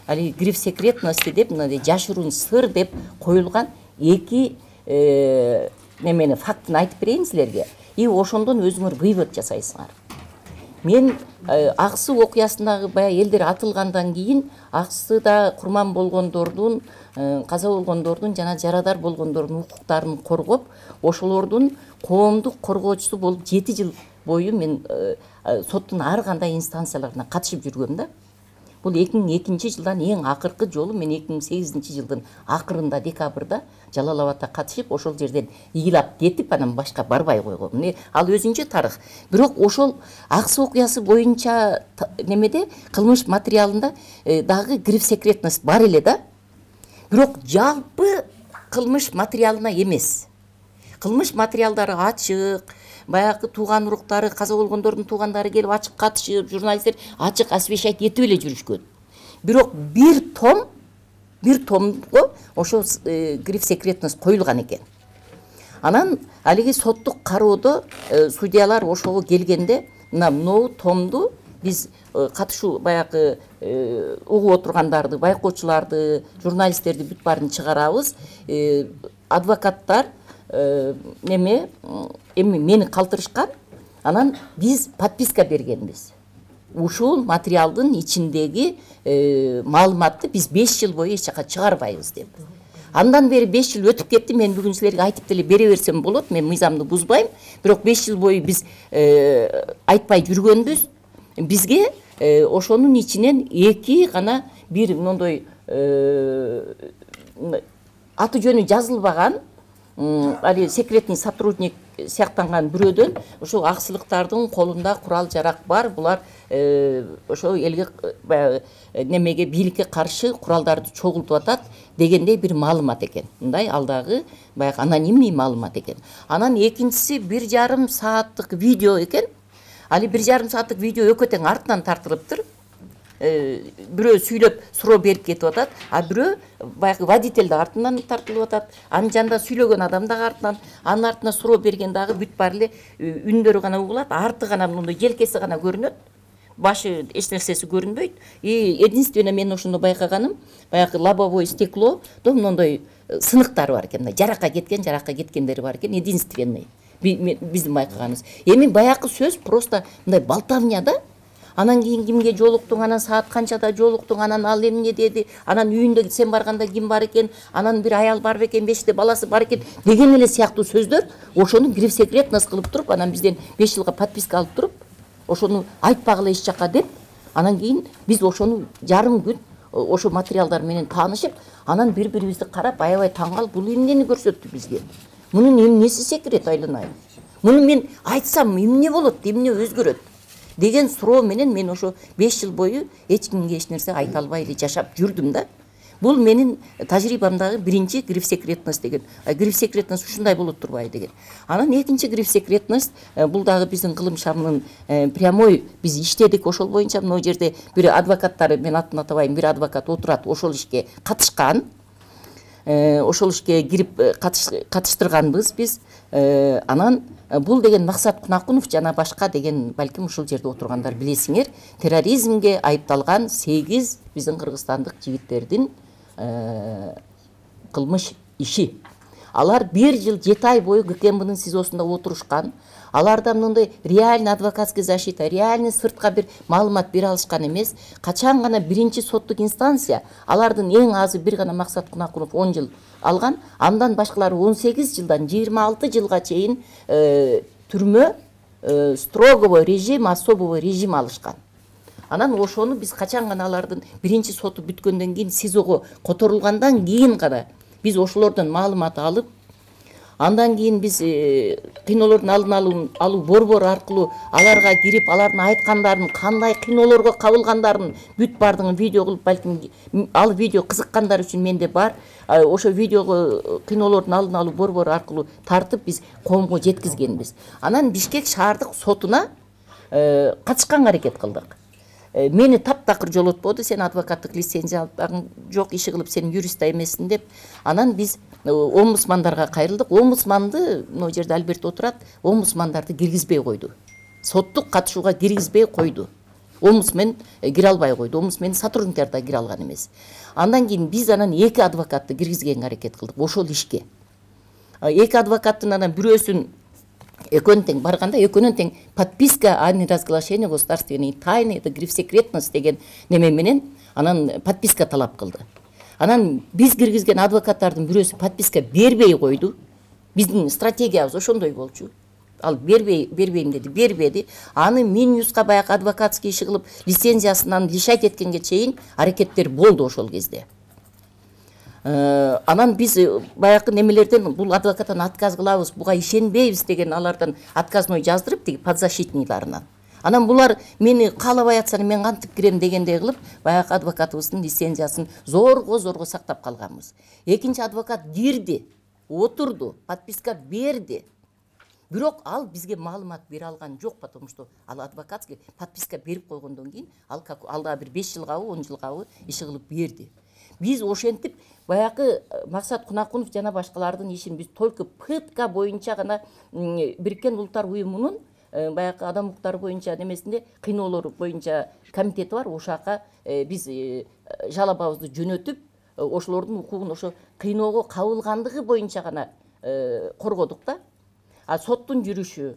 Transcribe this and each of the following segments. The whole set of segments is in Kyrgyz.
али гриф секретности деп мындай жашыруун сыр деп коюлган эки немени фактыны айтып берейин силерге. И ошондон өзүңөр вывод жасайсыңар. Мен Аксы окуясындагы баягы элдер атылгандан кийин Аксыда курман болгондордун, каза болгондордун жана жарадар болгондордун укуктарын коргоп, ошолордун коомдук коргоочусу болуп 7 жыл бою мен соттун ар кандай инстанцияларына катышып жүргөм да. Бул 2002 жылдан эң акыркы жолу мен 2008 жылдын акырында декабрда Жалал Абадта катышып, ошол жерден ыйлап кетип, анан башка барбай койгом. Ал өзүнчө тарых. Бирок ошол Аксы окуясы боюнча немеде кылмыш материалында дагы гриф секретность бар эле да. Бирок жалпы кылмыш материалына эмес. Кылмыш материалдары ачык, баягы тууган уруктары, каза болгондордун туугандары келип ачык катышып, журналисттер ачык освещать этип эле жүрүшкөн. Бирок бир томго ошо гриф секретность коюлган экен. Анан алиги соттук кароодо судьялар ошого келгенде, мына томду биз катышуу баягы угуп отургандарды, байкоочуларды, журналисттерди бүт баарын чыгарабыз. Адвокаттар эми мени калтырышкан. Анан биз подписка бергенбиз. Ушул материалдын ичиндеги маалыматты биз 5 жыл бою эч жака чыгарбайбыз деп. Андан бери 5 жыл өтүп кетти. Мен бүгүн силерге айтып деле бере берсем болот. Мен мыйзамды бузбайм. Бирок 5 жыл бою биз айтпай жүргөнбүз. Бизге ошонун ичинен эки гана бир мондой аты жөнү жазылбаган али секретный сотрудник сыяктанган бирөөдөн ошол аксылыктардын колунда курал жарак бар. Булар ошо элге баягы немеге бийликке каршы куралдарды чогултуп атат дегендей бир маалымат экен. Мындай алдагы баягы анонимный маалымат экен. Анан экинчиси 1,5 сааттык видео экен. Али 1,5 сааттык видео экөө тең артынан тартылыптыр. Бирөө сүйлөп суроо берип кетип атат, а бирөө баягы водитель да артынан тартылып атат. Анын жанында сүйлөгөн адам дагы артынан, анын артына суроо берген дагы бүт баары эле үндөрү гана угулат, арты гана мындай желкеси гана көрүнөт. Башы эч нерсеси көрүнбөйт. Единственно мен ошондо байкаганым, баягы лобовое стекло, мондой сыныктары бар экен, жаракка кеткендери бар экен, единственный. Биздин байкаганыбыз. Эми баягы сөз просто мындай болтовня да. Анан кийин кимге жолуктуң, анан саат канчада жолуктуң, анан ал эмне деди, анан үйүндө сен барганда ким бар экен, анан бир аял бар бекен, 5 баласы бар экен деген эле сыяктуу сөздөр ошону гриф секретность кылып туруп, анан бизден 5 жылга подписка алып туруп, ошону айтпагыла эч жака деп, анан кийин биз ошону жарым күн ошо материалдар менен таанышып, анан бири-бирибизди карап аябай таң калып, бул эмнени көрсөттү бизге? Мунун эмнеси секрет айланайын? Муну мен айтсам эмне болот, эмне өзгөрөт? Деген суроо менен мен ошо 5 жыл бою эч кимге эч нерсе айта албай эле жашап жүрдүм да. Бул менин тажрыйбамдагы биринчи гриф секретность деген. Гриф секретность ушундай болот турбайбы деген. Анан экинчи гриф секретность бул дагы биздин кылым шамынын прямой биз иштедик ошол боюнча. Мына жерде бир адвокаттары, мен атын атабайм, бир адвокат отурат, ошол ишке катышкан. Ошол ишке кирип катыштырганбыз биз. Анан бул деген Максат Кунакунов жана башка деген, балким ушул жерде отургандар билесиңер, терроризмге айыпталган 8 биздин кыргызстандык жигиттердин кылмыш иши. Алар 1 жыл 7 ай бою ГКМБнын СИЗОсунда отурушкан. Аларда мындай реальный адвокатский защита, реальный сыртка бир маалымат бере алышкан эмес. Качан гана биринчи соттук инстанция алардын эң азы бир гана Максат Кунакунов 10 жыл алган, андан башкалары 18 жылдан 26 жылга чейин түрмө строгого режим, особого режим алышкан. Анан ошону биз качан гана алардын биринчи соту бүткөндөн кийин СИЗОго которулгандан кийин гана биз ошолордон маалымат алып, андан кийин биз кыйноолордун алдын алуу борбору аркылуу аларга кирип, алардын айткандарын, кандай кыйноолорго кабылгандарын бүт баардыгын видео кылып, балким ал видео кызыккандар үчүн менде бар. Ошо видеого кыйноолордун алдын алуу борбору аркылуу тартып биз коомго жеткизгенбиз. Анан Бишкек шаардык сотуна катышканга аракет кылдык. Мени таптакыр жолотподу, сен адвокаттык лицензияң жок, иши кылып сен юрист да эмессиң деп. Анан биз омбудсмандарга кайрылдык. Омбудсманды, мына жерде Альберт отурат, омбудсмандарды киргизбей койду. Соттук катышууга киргизбей койду. омбудсмен кире албай койду, омбудсмендин сотрудниктери да кире алган эмес. Андан кийин биз анан 2 адвокатты киргизгенге аракет кылдык ошол ишке. 2 адвокаттын анан бирөөсүн экөөнүн тең барганда экөөнүн тең подписка о неразглашении государственной тайны, это гриф секретность деген неме менен анан подписка талап кылды. Анан биз киргизген адвокаттардын бирөөсү подписка бербей койду. Биздин стратегиябыз ошондой болчу. Ал бербейм деди, бербеди. Аны Минюска баягы адвокатский иши кылып, лицензиясынан лишать эткенге чейин аракеттер болду ошол кезде. Анан биз баягы немелерден бул адвокаттан отказ кылабыз, буга ишенбейбиз деген алардан отказной жаздырып, тиги подзащитныйларынан. Анан булар мени каалабай атсаны мен кантип кирем дегендей кылып, баягы адвокатыбыздын лицензиясын зорго сактап калганбыз. Экинчи адвокат кирди, отурду, подписка берди. Бирок ал бизге маалымат бере алган жок, потому что ал адвокатский подписка берип койгондон кийин ал да бир 5 жылгабы, 10 жылгабы иши кылып берди. Биз ошентип баягы Максат Кунакунов жана башкалардын ишин биз только пытка боюнча гана Бириккен Улуттар Уюмунун баягы адам укуктары боюнча немесинде кыйноолор боюнча комитети бар, ошака биз жалобабызды жөнөтүп, ошолордун укугун ошо кыйноого кабылгандыгы боюнча гана коргодук да. А соттун жүрүшү,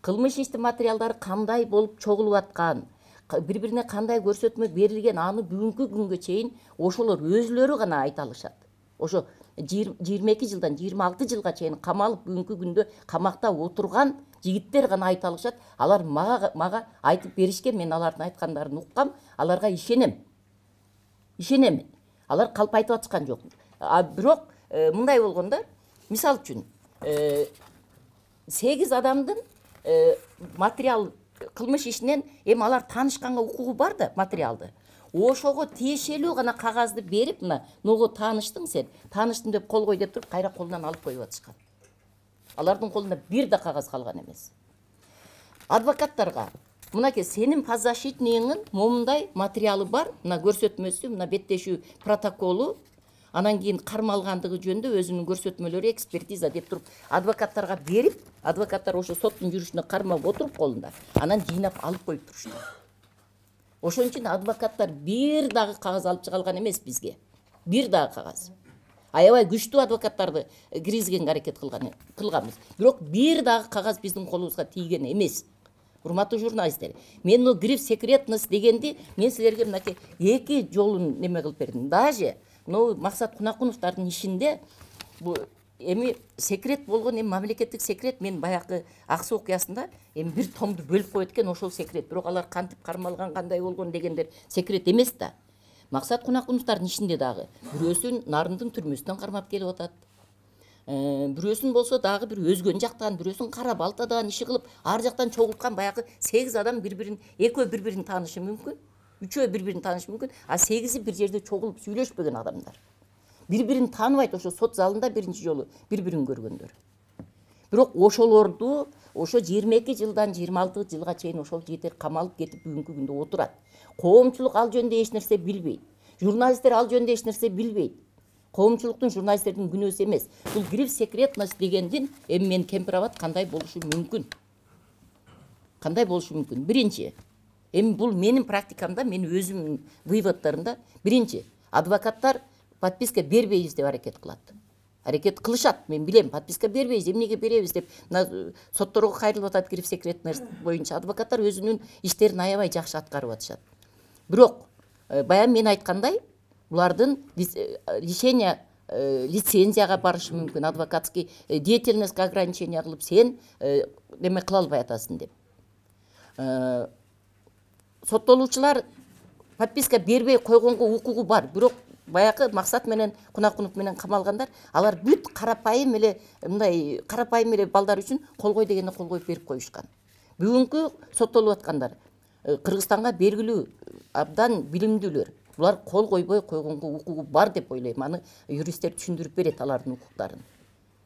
кылмыш иштин материалдары кандай болуп чогулуп аткан, бири-бирине кандай көрсөтмө берилген, аны бүгүнкү күнгө чейин ошолор өзлөрү гана айта алышат. Ошо 22 жылдан 26 жылга чейин камалып бүгүнкү күндө камакта отурган жигиттер гана айта алышат. Алар мага айтып беришкен, мен алардын айткандарын уккам, аларга ишенем. Алар калп айтып атышкан жок. Бирок мындай болгондо, мисал үчүн 8 адамдын материал кылмыш ишинен эми алар таанышканга укугу бар да материалды. Ошого тиешелүү гана кагазды берип, мына ного тааныштың сен, тааныштым деп кол кой деп туруп, кайра колунан алып коюп атышкан. Алардын колунда бир да кагаз калган эмес. Адвокаттарга мынакей сенин подзащитныйыңын момундай материалы бар, мына көрсөтмөсү, мына беттешүү протоколу, анан кийин кармалгандыгы жөнүндө өзүнүн көрсөтмөлөрү, экспертиза деп туруп адвокаттарга берип, адвокаттар ошо соттун жүрүшүнө кармап отуруп колунда, анан жыйнап алып коюп турушту. Ошон үчүн адвокаттар бир дагы кагаз алып чыга алган эмес бизге. Бир дагы кагаз. Аябай күчтүү адвокаттарды киргизгенге аракет кылганбыз. Бирок бир дагы кагаз биздин колубузга тийген эмес. Урматтуу журналисттер, мен гриф секретность дегенди мен силерге мынакей 2 жолун неме кылып бердим. Даже Максат Кунакуновдардын ишинде бул эми секрет болгон, эми мамлекеттик секрет, мен баягы Ак Суу окуясында эми бир томду бөлүп коет экен, ошол секрет. Бирок алар кантип кармалган, кандай болгон дегендер секрет эмес да. Максат Кунакуновдардын ишинде дагы бирөөсүн Нарындын түрмөсүнөн кармап келип атат. Бирөөсүн болсо дагы бир өзгөн жактан, бирөөсүн Кара Балтадан иши кылып, ар жактан чогулткан баягы 8 адам бири-бирин, экөө бири-бирин таанышы мүмкүн, 3-өө бири-бирин таанышы мүмкүн, а 8-и бир жерде чогулуп сүйлөшпөгөн адамдар. Бири-бирин тааныбайт, ошо сот залында биринчи жолу бири-бирин көргөндөр. Бирок ошолорду ошо 22 жылдан 26 жылга чейин ошол жигиттер камалып кетип бүгүнкү күндө отурат. Коомчулук ал жөнүндө эч нерсе билбейт. Журналисттер ал жөнүндө эч нерсе билбейт. Коомчулуктун, журналисттердин күнөөсү эмес. Бул гриф секретность дегендин эми мен кемпирабад кандай болушу мүмкүн? Кандай болушу мүмкүн? Биринчи, эми бул менин практикамда, мен өзүмдүн выводдорумда, биринчи, адвокаттар подписка бербейбиз деп аракет кылат. Аракет кылышат, мен билем, подписка бербейбиз, эмнеге беребиз деп сотторго кайрылып атат гриф секретность боюнча. Адвокаттар өзүнүн иштерин аябай жакшы аткарып атышат. Бирок баягы мен айткандай, булардын лишение лицензияга барышы мүмкүн, адвокатский деятельностька ограничение кылып, сен неме кыла албай атасың деп. Соттолуучулар подписка бербей койгонго укугу бар, бирок баягы Максат менен Кунакунов менен камалгандар, алар бүт карапайым эле мындай карапайым эле балдар үчүн кол кой дегенде кол коюп берип коюшкан. Бүгүнкү соттолуп аткандар Кыргызстанга белгилүү абдан билимдүүлөр. Булар кол койбой койгонго укугу бар деп ойлойм. Аны юристтер түшүндүрүп берет алардын укуктарын.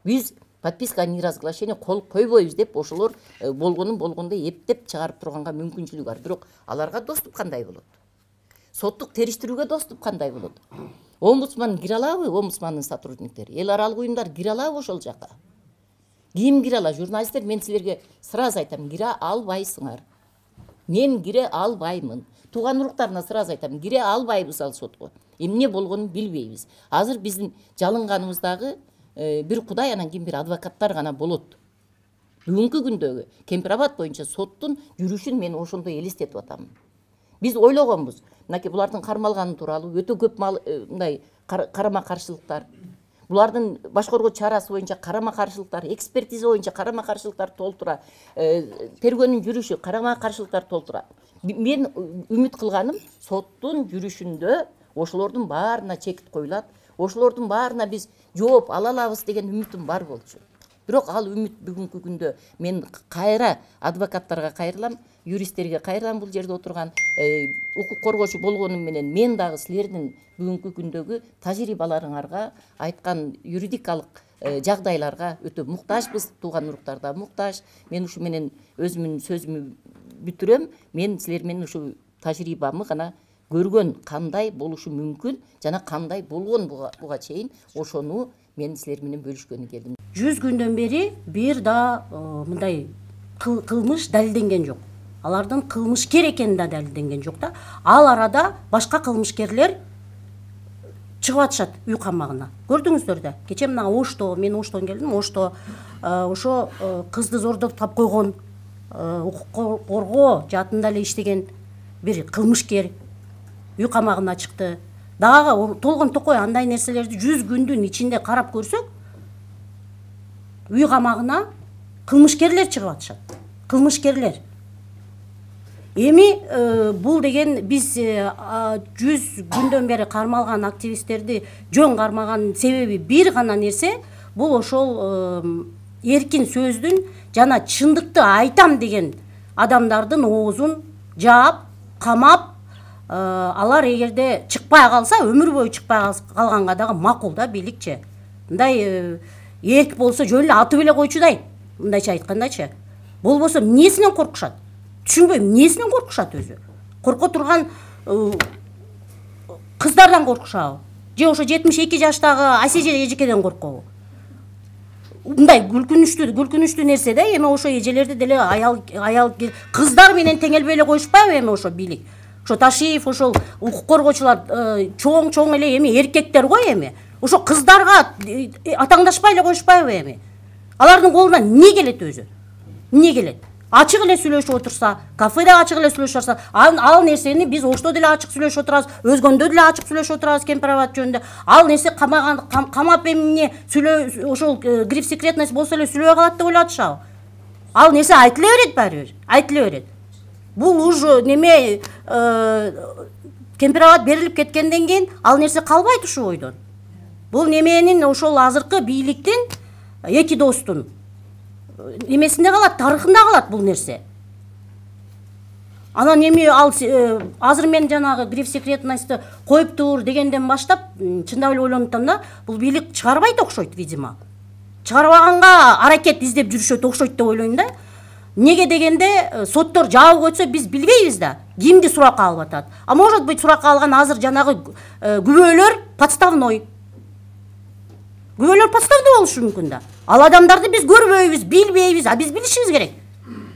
Биз подписка о неразглашении кол койбойбуз деп ошолор болгондой эптеп чыгарып турганга мүмкүнчүлүгү бар. Бирок аларга доступ кандай болот? Соттук териштирүүгө доступ кандай болот? Омбудсман кире алабы, омбудсмандын сотрудниктери? Эл аралык уюмдар кире алабы ошол жака? Ким кире алат? Журналисттер, мен силерге сразу айтам, кире албайсыңар. Мен кире албаймын. тууган уруктарына сразу айтам, кире албайбыз ал сотко. Эмне болгонун билбейбиз. Азыр биздин жалынганыбыздагы бир Кудай, анан кийин бир адвокаттар гана болот. Бүгүнкү күндөгү Кемпир-Абад боюнча соттун жүрүшүн мен ошондой элестетип атам. Биз ойлогонбуз, мынакей булардын кармалганы тууралуу өтө көп мындай карама-каршылыктар, булардын башкаруу чарасы боюнча карама-каршылыктар, экспертиза боюнча карама-каршылыктар толтура, тергөөнүн жүрүшү карама-каршылыктар толтура. Мен үмүт кылганым, соттун жүрүшүндө ошолордун баарына чекит коюлат, ошолордун баарына биз жооп ала алабыз деген үмүтүм бар болчу. Бирок ал үмүт бүгүнкү күндө мен кайра адвокаттарга кайрылам, юристтерге кайрылам, бул жерде отурган укук коргоочу болгонум менен мен дагы силердин бүгүнкү күндөгү тажрыйбаларыңарга, айткан юридикалык жагдайларга өтө муктажбыз, тууган уруктар да муктаж. Мен ушу менен өзүмдүн сөзүмдү бүтүрөм. Мен силер менен ушу тажрыйбамы гана көргөн, кандай болушу мүмкүн жана кандай болгон буга чейин, ошону мен силер менен бөлүшкөнү келдим. 100 күндөн бери бир да мындай кылмыш далилденген жок. Алардын кылмышкер экени да далилденген жок да. Ал арада башка кылмышкерлер чыгып атышат үй камагына. Көрдүңүздөр да. Кече мына Ошто, мен Оштон келдим. Ошто ошо кызды зордоп койгон, укук коргоо жаатында эле иштеген бир кылмышкер үй камагына чыкты. Дагы толгон токой андай нерселерди 100 күндүн ичинде карап көрсөк, үй камагына кылмышкерлер чыгып атышат. Кылмышкерлер. Эми бул деген биз 100 күндөн бери кармалган активисттерди жөн кармаган себеби бир гана нерсе, бул ошол эркин сөздүн жана чындыкты айтам деген адамдардын оозун жаап, камап, алар эгерде чыкпай калса, өмүр бою чыкпай калганга дагы макул да бийликчи. Мындай эрк болсо жөн эле атып эле койчудай, мындайча айткандачы. Болбосо эмнесинен коркушат? Түшүнбөйм, эмнесинен коркушат өзү? Корко турган кыздардан коркушабы? Же ошо 72 жаштагы Асеже эжекеден коркобу? Мындай күлкүнүчтүү нерсе да, эми ошо эжелерди деле аял кыздар менен теңелбей эле коюшпайбы эми ошо бийлик? Ошо Ташиев, ошол укук коргоочулар чоң эле эми эркектер го эми. Ошо кыздарга атаңдашпай эле коюшпайбы эми? Алардын колунан эмне келет өзү? Эмне келет? Ачык эле сүйлөшүп отурса, кафеде ачык эле сүйлөшүп отурса, ал нерсени биз Ошто деле ачык сүйлөшүп отурабыз, өзгөндө деле ачык сүйлөшүп отурабыз Кемпир-Абад жөнүндө. Ал нерсе камап эмне ошол гриф секретность болсо эле сүйлөбөй калат деп ойлотушабы? Ал нерсе айтыла берет баары бир, айтыла берет. Бул уже неме Кемпир-Абад берилип кеткенден кийин ал нерсе калбайт ушул бойдон. Бул неменин ошол азыркы бийликтин эки достун немесинде калат, тарыхында калат бул нерсе. Анан эми ал азыр мен жанагы гриф секретностьты коюптур дегенден баштап чындап эле ойлонуп атам да, бул бийлик чыгарбайт окшойт, видимо. Чыгарбаганга аракет издеп жүрүшөт окшойт деп ойлойм да. Неге дегенде соттор жабып койсо биз билбейбиз да, кимди суракка алып атат. А может быть суракка алган азыр жанагы күбөлөр подставной. Күбөлөр подставный болушу мүмкүн да. Ал адамдарды биз көрбөйбүз, билбейбиз, а биз билишибиз керек.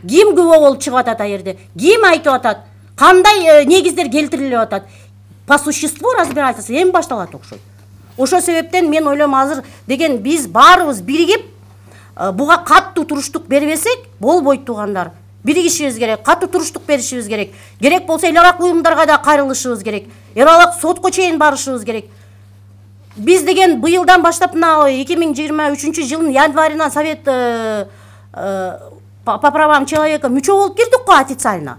Ким күбө болуп чыгып атат ал жерде? Ким айтып атат? Кандай негиздер келтирилип атат? По существу разбирательство эми башталат окшойт. Ошол себептен мен ойлойм, азыр деген биз баарыбыз биригип буга каттуу туруштук бербесек болбойт туугандар. Биригишибиз керек, каттуу туруштук беришибиз керек. Керек болсо эл аралык уюмдарга да кайрылышыбыз керек. Эл аралык сотко чейин барышыбыз керек. Биз деген быйылдан баштап мына 2023 жылдын январынан Совет по правам человека мүчө болуп кирдик го официально.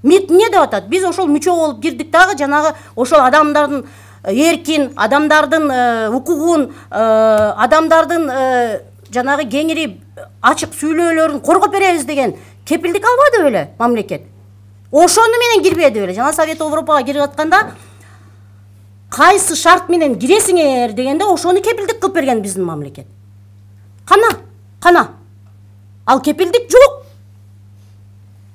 МИД эмне деп атат? Биз ошол мүчө болуп кирдик дагы, жанагы ошол адамдардын эркин, адамдардын укугун, адамдардын жанагы кеңири ачык сүйлөөлөрүн коргоп беребиз деген кепилдик албады беле мамлекет? Ошону менен кирбеди беле? Жана Совет Европага кирип атканда кайсы шарт менен киресиңер дегенде ошону кепилдик кылып берген биздин мамлекет. Кана. Ал кепилдик жок.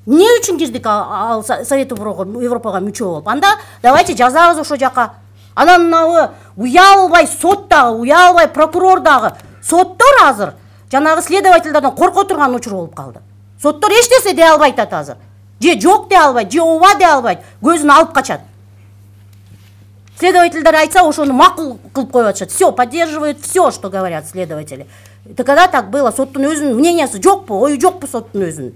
Эмне үчүн кирдик ал Совет Европага мүчө болуп? Анда давайте жазабыз ошо жака. Анан мынабы уялбай сот дагы, уялбай прокурор дагы. Соттор азыр жанагы следовательдерден корко турган учур болуп калды. Соттор эч нерсе дей албай атат азыр. же жок дей албайт, же ооба дей албайт, көзүн алып качат. Следовательдер айтса, ошону макул кылып коюп атышат. Все, поддерживают все, что говорят следователи. Когда так было, соттун өзүнүн мнениясы жокпу, ою жокпу соттун өзүнүн.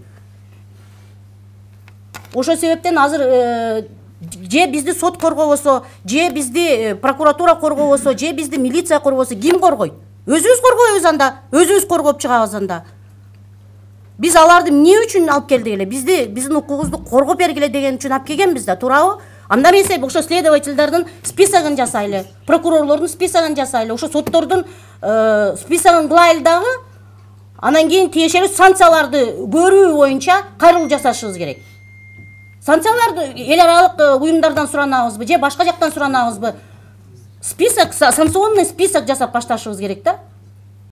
Ошол себептен азыр же бизди сот коргобосо, же бизди прокуратура коргобосо, же бизди милиция коргобосо ким коргойт? Өзүбүз коргойбуз анда, өзүбүз коргоп чыгабыз анда. Биз аларды эмне үчүн алып келдик эле? Биздин укугубузду коргоп бергиле деген үчүн алып келгенбиз да, туурабы? Анда эмесе ошо следовательдердин списогун жасайлы, прокурорлордун списогун жасайлы, ошо соттордун списогун кылайлы дагы, анан кийин тиешелүү санкцияларды көрүү боюнча кайрылуу жасашыбыз керек. Санкцияларды эл аралык уюмдардан суранабызбы же башка жактан суранабызбы? Список, санкционный список жасап башташыбыз керек да.